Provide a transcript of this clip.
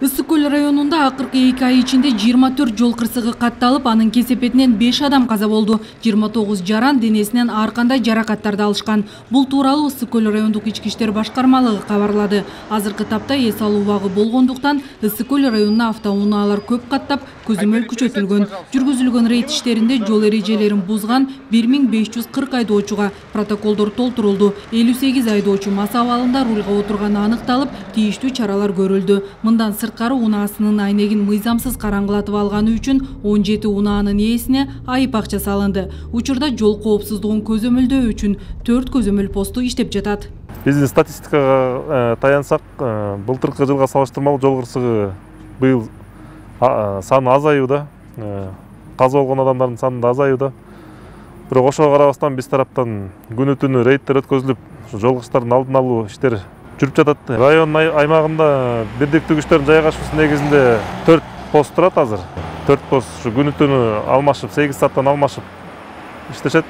Ысык көл районунда акыркы 2 ай ичинде 24 жол кырсыгы катталып, анын кесепетинен 5 адам каза болду. 29 жаран денесинен ар кандай жаракаттарды алышкан. Бул тууралуу Ысык көл райондук ички иштер башкармалыгы кабарлады. Азыркы тапта эс алуу убагы болгондуктан Ысык көл районуна автоунаалар көп каттап, көзөмөл күчөтүлгөн. Жүргүзүлгөн рейд иштеринде жол эрежелерин бузган 1540 айдоочуга протоколдор толтурулду. 58 айдоочу мас абалында рулга отурганы аныкталып, тийиштүү чаралар көрүлдү. Мындан сырткары унаасынын айнегин мыйзамсыз караңгылатып алганы үчүн 17 унаанын ээсине айып акча салынды. Учурда жол коопсуздугун көзөмөлдөө үчүн 4 көзөмөл посту иштеп жатат. Биздин статистикага таянсак, былтыркы жылга салыштырмалуу жол кырсыгы быйыл саны азаюуда, каза болгон адамдардын саны да азаюуда. Бирок ошого карабастан биз тараптан күнү түнү рейдтер өткөзүлүп, жол кырсыктардын алдын алуу иштери жүрүп жатат. Район аймагында бирдиктүү күчтөрдүн жайгашуусу негизинде 4 пост турат азыр. 4 пост күнү түнү алмашып, 8 сааттан алмашып иштешет.